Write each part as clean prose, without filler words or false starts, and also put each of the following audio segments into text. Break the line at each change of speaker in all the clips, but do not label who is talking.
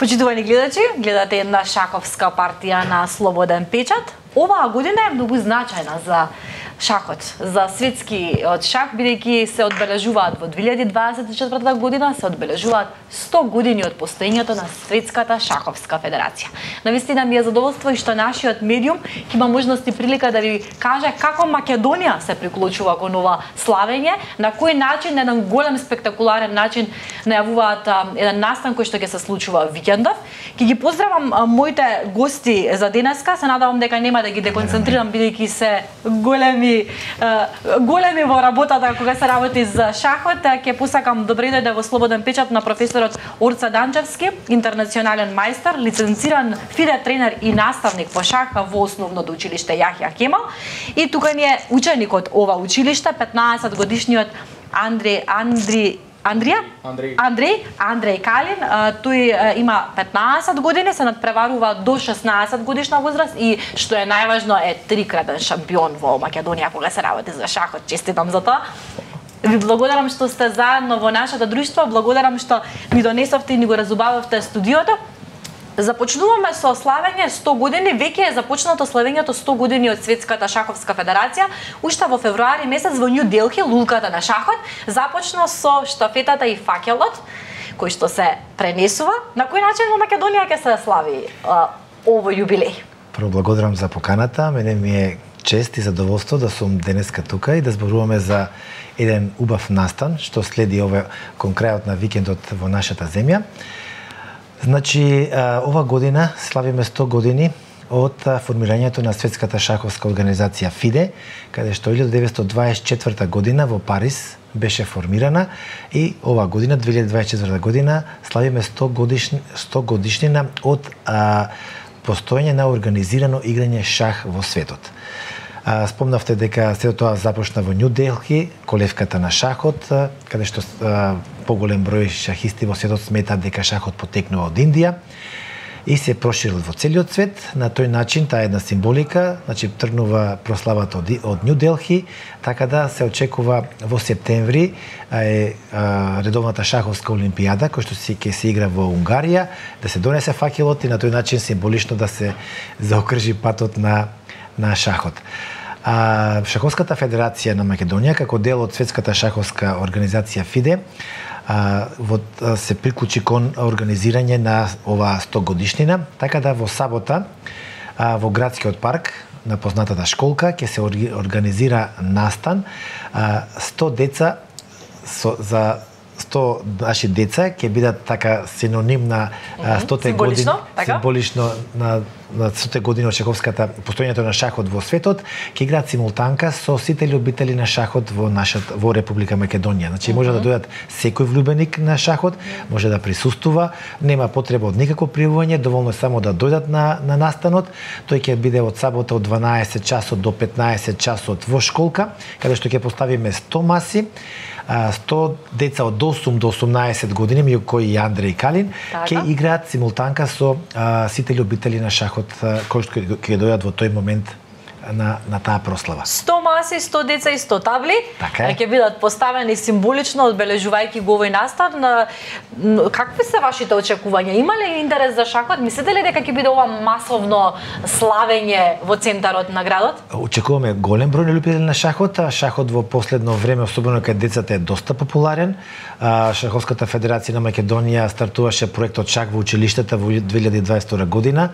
Почитувани гледачи, гледате една шаховска партија на Слободен печат. Оваа година е многу значајна за шахот, за светскиот шах, бидејќи се одбележуваат во 2024 година, се одбележуваат 100 години од постоењето на Светската шаховска федерација. Навистина ми е задоволство и што нашиот медиум ќе има можност и прилика да ви каже како Македонија се приклучува кон ова славење, на кој начин, на еден голем спектакуларен начин најавуваат еден настан кој што ќе се случува викендов. Ќе ги поздравам моите гости за денеска, се надевам дека нема да ги деконцентрирам бидејќи се големи во работата кога се работи за шахот. Ќе посакам добре дојде во Слободен печат на професорот Орца Данчевски, интернационален мајстор, лиценциран фиде тренер и наставник по шах во основното училиште Јахја Кемал. И тука ни е ученикот ова училиште, 15 годишниот Андрей Калин. Тој има 15 години, се надпреварува до 16 годишна возраст и што е најважно е трикратен шампион во Македонија кога се работи за шахот. Честитам за тоа. Ви благодарам што сте заедно во нашето друштво, благодарам што ми донесовте и ни го разубававте студиото. Започнуваме со славење 100 години, веќе е започнато славењето 100 години од Светската шаховска федерација. Уште во февруари месец во Нью Делхи, лулката на шахот, започна со штафетата и факелот, кој што се пренесува. На кој начин во Македонија ќе се слави овој јубилеј?
Прво благодарам за поканата, мене ми е чест и задоволство да сум денеска тука и да зборуваме за еден убав настан што следи кон крајот на викендот во нашата земја. Значи, ова година славиме 100 години од формирањето на Светската шаховска организација ФИДЕ, каде што 1924 година во Париз беше формирана и ова година, 2024 година, славиме 100 годишнина од постоење на организирано играње шах во светот. Спомнавте дека сето тоа започна во Нью Делхи, колевката на шахот, каде што поголем број шахисти во светот сметаат дека шахот потекнува од Индија и се проширил во целиот свет. На тој начин, таа една символика, значи тргнува прославата од Нью Делхи, така да се очекува во септември редовната шаховска олимпијада, која што ќе се игра во Унгарија, да се донесе факелот и на тој начин символично да се заокржи патот на шахот. Шаховската федерација на Македонија, како дел од Светската шаховска организација ФИДЕ, се приклучи кон организирање на оваа 100 годишнина, така да во сабота во градскиот парк на познатата школка ќе се организира настан 100 деца за 100 наши деца ќе бидат така синоним на 100 години, символично на 100 години од шаховската постоењето на шахот во светот, ќе играат симултанка со сите љубители на шахот во Република Македонија. Значи може да дојдат секој влюбеник на шахот, може да присуствува, нема потреба од никакво пријавување, доволно е само да дојдат на настанот. Тој ќе биде од сабота од 12 часот до 15 часот во школка, каде што ќе поставиме 100 маси. 100 деца од 8 до 18 години, меѓу кои и Андрей Калин, ќе играат симултанка со сите љубители на шахот кои ќе дојдат во тој момент на таа прослава.
100 маси, 100 деца и 100 табли ќе бидат поставени символично одбележувајќи го овој настан. Какви се вашите очекувања? Има ли интерес за шахот? Мислите ли дека ќе биде ова масовно славење во центарот на градот?
Очекуваме голем број на љубители на шахот. Шахот во последно време, особено кај децата, е доста популарен. Шаховската федерација на Македонија стартуваше проектот Шах во училиштата во 2022 година.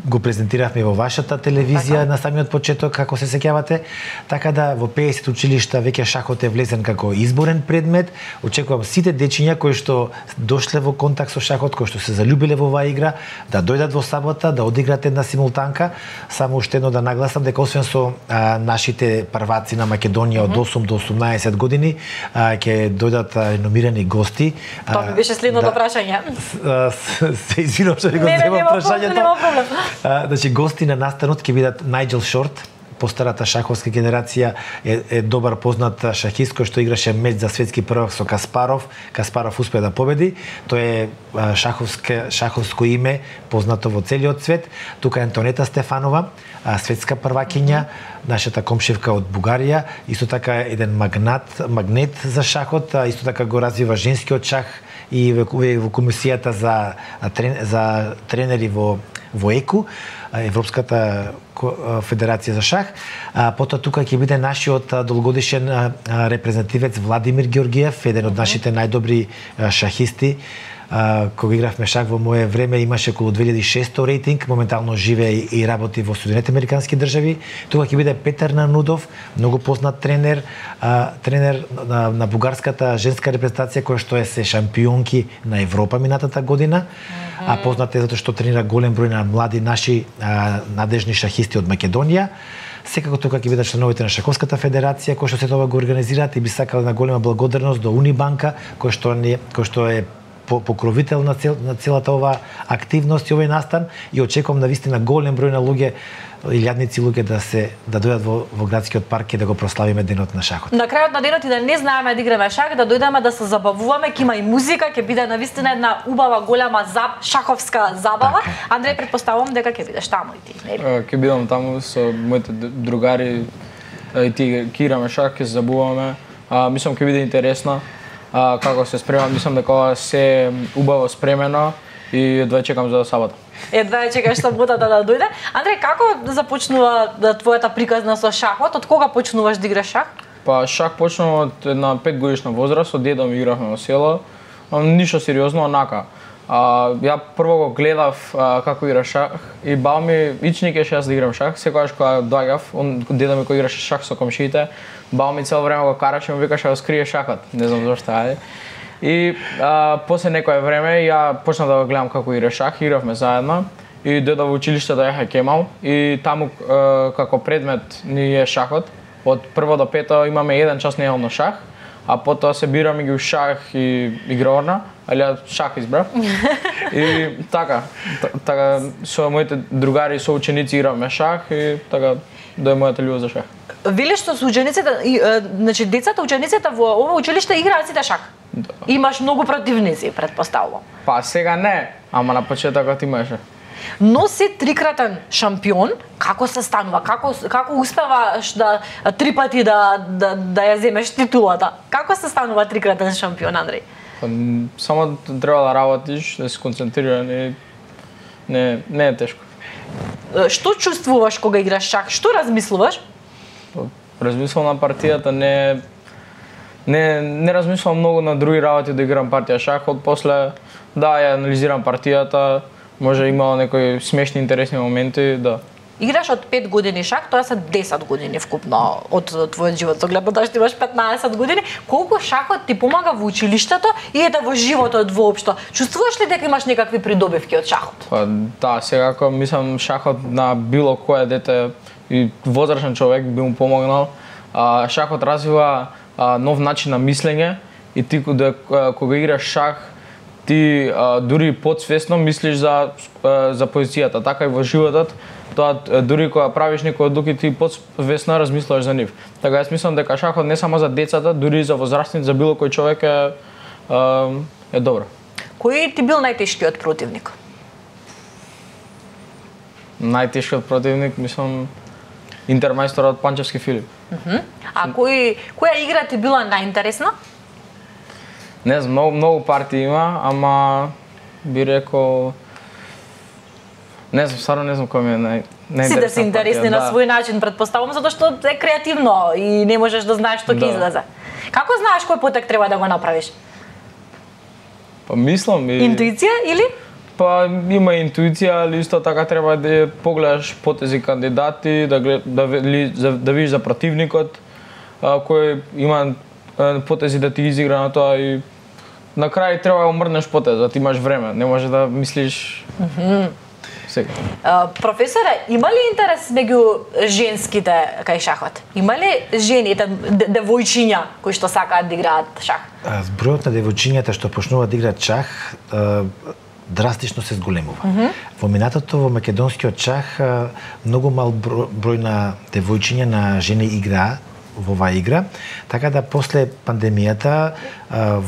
Го презентиравме во вашата телевизија на самиот почеток, како се сеќавате, така да во 50 училишта веќе шахот е влезен како изборен предмет. Очекувам сите дечиња кои што дошле во контакт со шахот, кои што се заљубиле во оваа игра, да дојдат во сабота, да одиграат една симултанка. Само уште едно да нагласам дека освен со нашите прваци на Македонија од 8 до 18 години, ќе дојдат реномирани гости.
Тоа ми беше следното прашање.
Се извинувам што ви го земам прашањето. Значи гости на настанот ќе бидат Најджел Шорт, постарата шаховска генерација, е добар познат шахист кој што играше меч за светски првак со Каспаров. Каспаров успеа да победи. Тој е шаховско име познато во целиот свет. Тука е Антонета Стефанова, светска првакиња, нашата комшевка од Бугарија, исто така еден магнет за шахот, исто така го развива женскиот шах, и во комисијата за тренери во ЕКУ, Европската федерација за шах. Потоа тука ќе биде нашиот долгогодишен репрезентативец Владимир Георгиев, еден од нашите најдобри шахисти. Кога игравме шах во мое време имаше околу 2600 рейтинг, моментално живее и работи во Соединетите американски држави. Тука ќе биде Петар Нанудов, многу познат тренер, тренер на бугарската женска репрезентација која што е се шампионки на Европа минатата година. А познат е затоа што тренира голем број на млади наши надежни шахисти од Македонија. Секако тука ќе бидат членовите на Шаковската федерација кои што се тоа го организираат и би сакале на голема благодарност до Унибанка кој што е покровител на целата оваа активност и овој настан и очекувам навистина голем број на луѓе, илјадници луѓе да дојдат во градскиот парк и да го прославиме денот на шахот.
На крајот на денот и да не знаеме да играме шах, да дојдеме да се забавуваме, ќе има и музика, ќе биде навистина една убава голема шаховска забава.
Така.
Андреј, претпоставувам дека ќе бидеш таму и ти, нели?
Ќе бидам таму со моите другари и ти ќе играме шах, ќе се забавуваме. Мислам ќе биде интересно. Како се спремам, мислам дека се убаво спремено и едва чекам за сабота.
Едва чекаш саботата да дојде. Андреј, како започнува твојата приказна со шахот? Од кога почнуваш да играш шах?
Па шах почнува од една 5 годишна возраст, од дедо ми игравме во село. Ништо сериозно, онака. Ја прво го гледав како игра шах и баба ми ични кеше јас да играм шах. Секогаш кога доаѓав, дедо ми кој играше шах со комшиите, баба ми цело време го караше и му викаше да скрие шахот. Не знам зошто, ајде. И после некое време ја почнав да го гледам како игра шах, игравме заедно и дојдов во училиште да ја Кемал и таму како предмет ни е шахот. Од прво до пето имаме еден час неделно шах, а потоа се бираме ги шах и игрорна, али ја шах избрав. И така со моите другари и соученици игравме шах и така дојде мојата љубов за шах.
Велиш што со учениците, значи децата, учениците во ова училиште играат сите шах?
Да.
Имаш многу противници, претпоставувам.
Па сега не, ама на почетокот имаше.
Но си трикратен шампион, како се станува? Како успеваш да 3 пати да ја земеш титулата? Како се станува трикратен шампион, Андреј?
Само треба да работиш, да си концентриран и не е тешко.
Што чувствуваш кога играш шах? Што размислуваш?
Размислувам на партијата, не размислувам многу на други работи да играм партија шах, од после ја анализирам партијата, може имало некои смешни интересни моменти, да.
Играш од 5 години шах, тоа се 10 години вкупно од твојот живот. Со гледно што имаш 15 години, колку шахот ти помага во училиштето и во животот воопшто? Чувствуваш ли дека имаш некакви придобивки од шахот?
Па да, секако мислам шахот на било кое дете и возрастен човек би му помогнал. Шахот развива нов начин на мислење и ти кога играш шах ти дури подсвесно мислиш за позицијата, така и во животот. Тоа дури кога правиш некои одлуки ти подсвесно размислуваш за нив. Така јас мислам дека шахот не само за децата, дури и за возрастните, за било кој човек е добро.
Кој ти бил најтешкиот противник?
Најтешкиот противник, мислам, интермајсторот Панчевски Филип.
А која игра ти била најинтересна?
Не знам, многу партии има, ама би рекол не знам, стварно не знам кој ми е најинтересна.
Сите се интересни на свој начин, претпоставувам, затоа што е креативно и не можеш да знаеш што ќе излезе. Како знаеш кој потек треба да го направиш?
Па мислам и
Интуиција или?
Па има интуиција, али исто така треба да погледаш потези кандидати, да видиш за противникот кој има потези да ти изигра на тоа и на крај треба да умрнеш потезот, имаш време, не може да мислиш. Сега.
Професоре, има ли интерес меѓу женските кај шахот? Има ли жените, девојчиња кои што сакаат да играат шах?
Збројот на девојчињата што почнуваат да играат шах драстично се зголемува. Во минатото во македонскиот шах многу мал број на девојчиња на жени играа во оваа игра, така да после пандемијата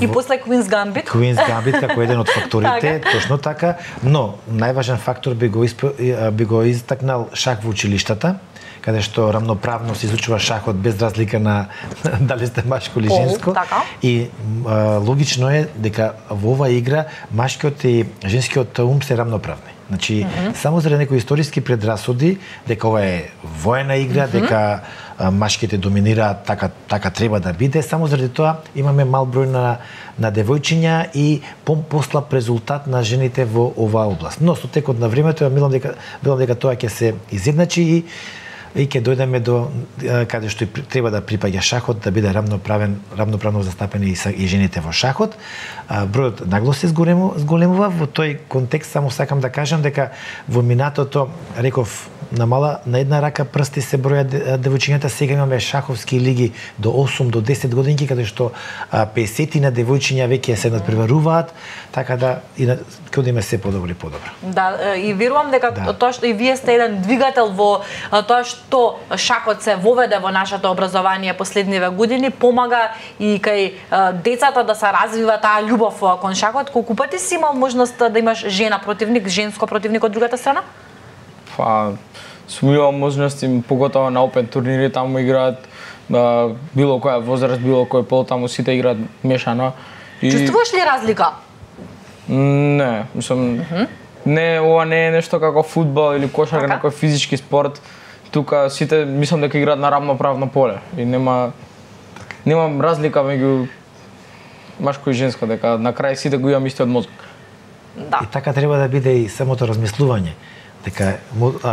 и после Queen's Gambit
како еден од факторите, точно така, но најважен фактор би го истакнал шах во училиштата каде што рамноправно се изучува шахот без разлика на дали сте машко или женско.
Така.
И логично е дека во оваа игра машкиот и женскиот ум се рамноправни. Значи, само заради некои историски предрасуди дека ова е воена игра, дека машките доминираат, така треба да биде, само заради тоа имаме мал број на девојчиња и послаб резултат на жените во оваа област. Но со текот на времето ја мислам дека тоа ќе се изедначи и ќе дојдеме до каде што треба да припаѓа шахот, да биде рамноправно застапени и жените во шахот. Бројот нагло се зголемува. Во тој контекст само сакам да кажам дека во минатото, реков, на една рака прсти се броја девојчињата. Сега имаме шаховски лиги до 8 до 10 годинки, каде што 50 на девојчиња веќе се надпреваруваат, така да ќе одиме се подобро и подобро.
Да, и верувам дека тоа што и вие сте еден двигател во тоа што шахот се воведе во нашето образование последниве години, помага и кај децата да се развива таа љубов кон шахот. Колку пати си имал можност да имаш жена противник, женско противник од другата страна?
Сум имал можности, поготово на опен турнири, таму играат било која возраст, било кој пол, таму сите играат мешано.
Чувствуваш ли разлика?
Не, мислам, не, ова не е нешто како фудбал или кошарка, некој физички спорт. Тука сите мислам дека играат на рамноправно поле и нема разлика меѓу машко и женско, дека на крај сите го имаме истиот мозок.
Да.
И така треба да биде и самото размислување, дека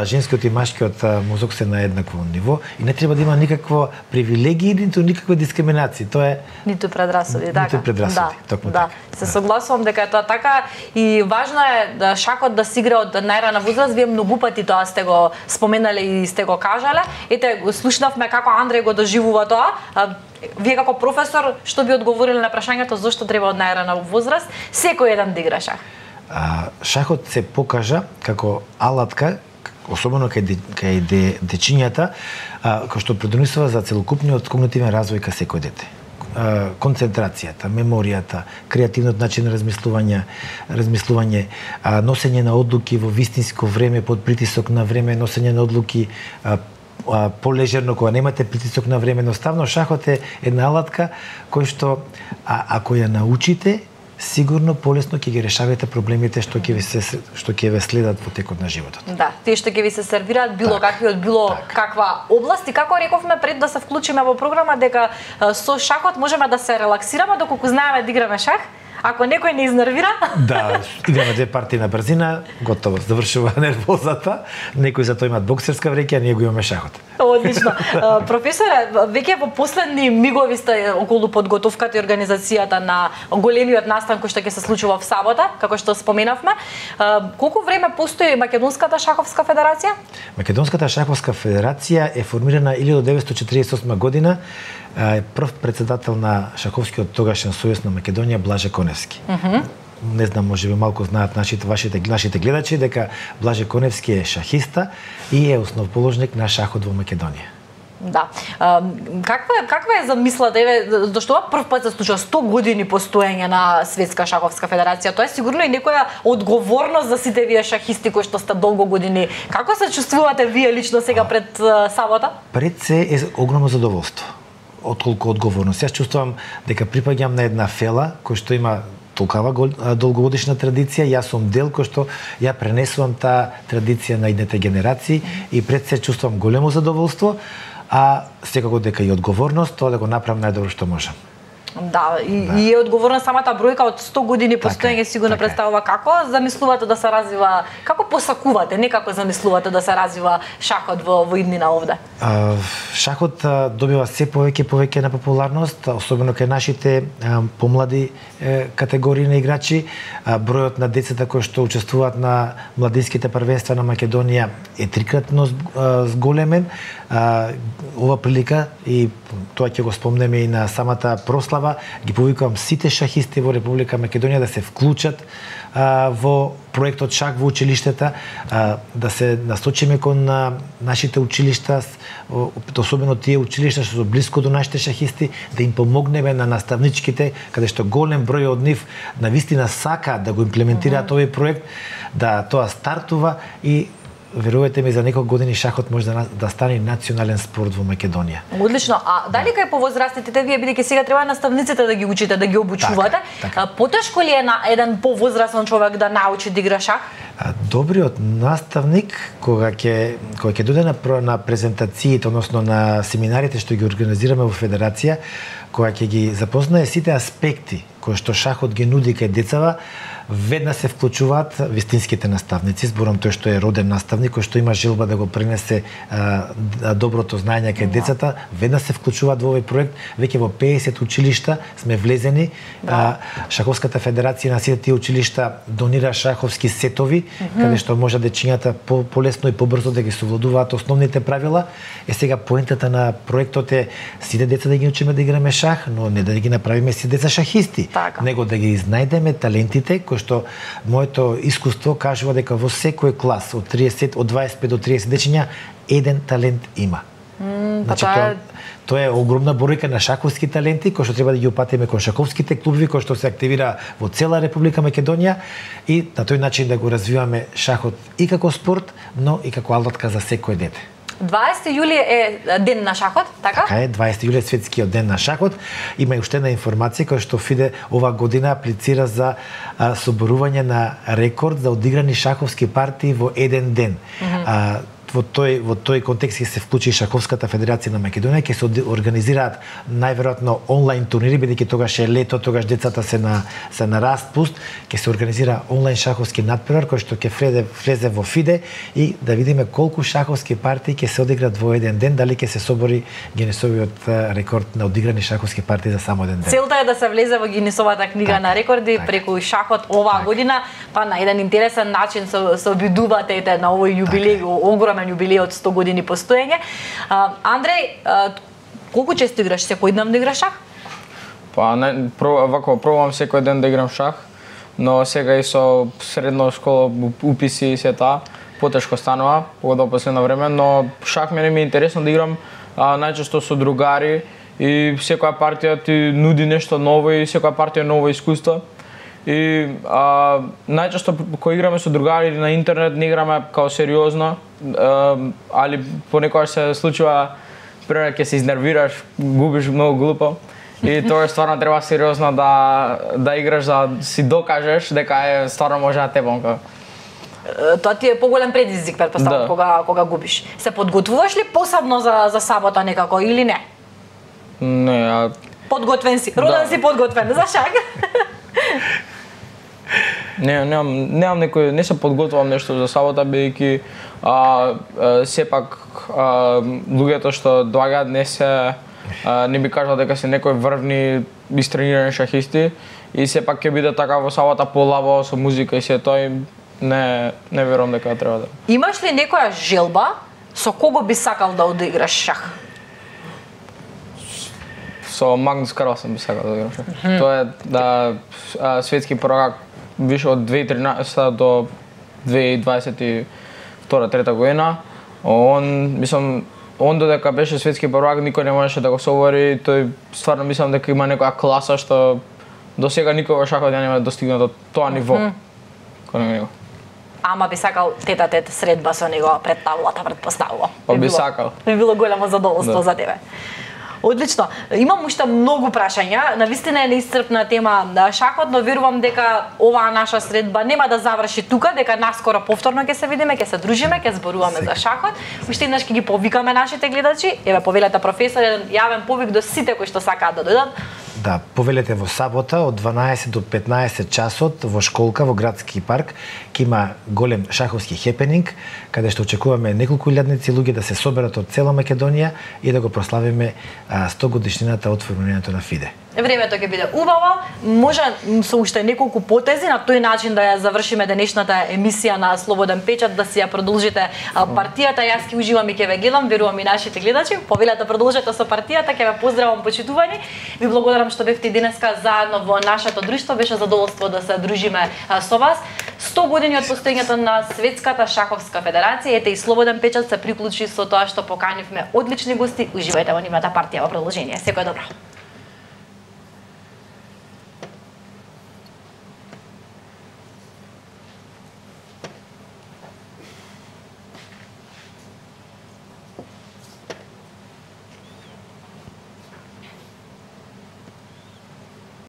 женскиот и машкиот мозок се на еднакво ниво и не треба да има никакво привилегии, ниту никаква дискриминација. Тоа е
ниту предрасуди, така.
Ниту предрасуди, токму така.
Се согласувам дека е тоа така и важно е да шахот да се игра од најрана возраст. Вие многу пати тоа сте го споменале и сте го кажале. Ете, слушнавме како Андреј го доживува тоа. Вие како професор, што би одговориле на прашањето зошто треба од најрана возраст секој еден да игра шах?
Шахот се покажа како алатка, особено кај дечињата, кој што предонесува за целокупниот когнитивен развој кај секој дете. Концентрацијата, меморијата, креативниот начин на размислување, носење на одлуки во вистинско време под притисок на време, носење на одлуки полежерно кога немате притисок на време. Едноставно шахот е една алатка кој што ако ја научите, сигурно полесно ќе ги решавате проблемите што ќе ве следат во текот на животот.
Да, тие што ќе ви се сервираат било какви од било каква област. И како рековме пред да се вклучиме во програма дека со шахот можеме да се релаксираме доколку знаеме да играме шах. Ако некој не изнервира...
Да, играме 2 партии на брзина, готово, завршува нервозата. Некои за тоа имаат боксерска вреќа, а ние го имаме шахот.
Одлично. Професоре, веќе во последни мигови сте околу подготовката и организацијата на големиот настан кој што ќе се случува в сабота, како што споменавме. Колку време постои Македонската шаховска федерација?
Македонската шаховска федерација е формирана 1948 година. Прв председател на шаховскиот тогашен сојуз на Македонија Блаже Коневски. Не знам, можеби малку знаат нашите гледачи дека Блаже Коневски е шахиста и е основоположник на шахот во Македонија.
Да. Каква е замислата? Зашто ова прв пат се случува 100 години постоење на Светска шаховска федерација? Тоа е сигурно и некоја одговорност за сите вие шахисти кои што сте долго години. Како се чувствувате вие лично сега пред сабота?
Пред се е огромно задоволство. Отколку одговорност. Јас чувствувам дека припаѓам на една фела кој што има толкава долгогодишна традиција, јас сум дел кој што ја пренесувам таа традиција на идните генерации и пред се чувствувам големо задоволство, а секако дека и одговорност тоа да го направам најдобро што можам.
Да, и е одговорна самата бројка од 100 години постоење сигурно представува. Како замислувате да се развива, како посакувате, не како замислувате да се развива шахот во иднина овде?
Шахот добива се повеќе на популарност, особено кај нашите помлади категории на играчи. Бројот на децата кои што учествуваат на младинските првенства на Македонија е трикратно зголемен. Ова прилика и тоа ќе го спомнеме и на самата прослава, ги повикувам сите шахисти во Република Македонија да се вклучат во проектот Шах во училиштата, да се насочиме кон нашите училишта, особено тие училишта што се блиску до нашите шахисти, да им помогнеме на наставничките, каде што голем број од нив навистина сака да го имплементираат овој проект, да тоа стартува и верувате ми, за неколку години шахот може да стане национален спорт во Македонија.
Одлично. А дали кај повозрастните вие, бидејќи сега треба наставниците да ги учите, да ги обучувате, потешко ли е на еден повозрастен човек да научи да игра шах?
Добриот наставник кога ќе дојде на презентациите, односно на семинарите што ги организираме во федерација, кога ќе ги запознае сите аспекти кои што шахот ги нуди кај децава, веднаш се вклучуваат вистинските наставници, зборам тој што е роден наставник, кој што има желба да го пренесе доброто знаење кај децата, веднаш се вклучуваат во овој проект. Веќе во 50 училишта сме влезени. Шаховската федерација на сите тие училишта донира шаховски сетови, каде што може дечињата полесно и побрзо да ги совладуваат основните правила. Сега поентата на проектот е сите деца да ги учиме да играме шах, но не да ги направиме сите деца шахисти, него да ги изнајдеме талентите што моето искуство кажува дека во секој клас од 25 до 30 дечиња еден талент има. Значи тоа е огромна бројка на шаховски таленти кои што треба да ги опатиме кон шаховските клубови кои што се активира во цела Република Македонија и на тој начин да го развиваме шахот и како спорт, но и како алатка за секој дете.
20 јули е ден на шахот, така?
Така е, 20 јули е светскиот ден на шахот. Има и уште една информација која што ФИДЕ ова година аплицира за соборување на рекорд за одиграни шаховски партии во еден ден. Во тој контекст ќе се вклучи Шаховската федерација на Македонија, ќе се организираат најверојатно онлайн турнири, бидејќи тогаш е лето, тогаш децата се на распуст, ќе се организира онлайн шаховски надпревар кој што ќе влезе во ФИДЕ и да видиме колку шаховски партии ќе се одиграат во еден ден, дали ќе се собори Гинесовиот рекорд на одиграни шаховски партии за само еден ден.
Целта е да се влезе во Гинесовата книга на рекорди преку шахот оваа година, па на еден интересен начин се обидувате на овој јубилеј, огромен јубилеј од 100 години постоење. Андреј, колку често играш? Секојдневно играш шах?
Па вако пробувам секој ден да играм шах, но сега и со средна школа уписи и се таа потешко станува, погода последно време, но шах мене ми е интересно да играм најчесто со другари и секоја партија ти нуди нешто ново и секоја партија е ново искуство. И најчесто кога играме со другари на интернет не играме као сериозно, али понекогаш се случува прво ќе се изнервираш, губиш многу глупо. И тоа стварно треба сериозно да играш за да си докажеш дека стварно може да те бонка.
Тоа ти е поголем предизвик, претпоставам, кога губиш. Се подготвуваш ли посебно за сабота некако или не?
Не,
подготвен си, роден си подготвен за шах.
Немам некој, не се подготвувам нешто за сабота, бидејќи сепак луѓето што доаѓаат не би кажал дека се некои врвни истренирани шахисти и сепак ќе биде така во сабота полабо со музика и се тоа не верувам дека треба да.
Имаш ли некоја желба со кого би сакал да одиграш шах?
Со Магнус Карлсен би сакал да играм шах. Тоа е да светски prvак више од 2013 до 2022-3 година. Он додека беше светски prvак никој не можеше да го собори, тој стварно мислам дека има некоја класа што до сега никој во шахот не нема достигнато тоа ниво. Кој него.
Ама би сакал тет-а-тет средба со него пред таблата, претпоставувам.
Па би сакал.
Би било големо задоволство за тебе. Одлично. Имам уште многу прашања. Навистина е неисцрпна тема на шахот, но верувам дека оваа наша средба нема да заврши тука, дека наскоро повторно ќе се видиме, ќе се дружиме, ќе зборуваме за шахот. Уште еднаш ќе ги повикаме нашите гледачи. Еве повелете професор, еден јавен повик до сите кои што сакаат да дојдат.
Да, повелете во сабота од 12 до 15 часот во школка во градски парк ќе има голем шаховски хепенинг каде што очекуваме неколку илјадници луѓе да се соберат од цела Македонија и да го прославиме 100 годишнината од формирањето на ФИДЕ.
Времето ќе биде убаво, може со уште неколку потези на тој начин да ја завршиме денешната емисија на Слободен печат, да си ја продолжите партијата. Јас ќе уживам и ќе ве гледам, верувам и нашите гледачи. Повелете продолжете со партијата, ќе ве поздравам почитувани. Ви благодарам што бевте денеска заедно во нашето друштво, беше задоволство да се дружиме со вас. 100 години од постоењето на Светската шаховска федерација, ете и Слободен печат се приклучи со тоа што поканивме одлични гости. Уживајте во нивната партија во продолжение. Секој добро.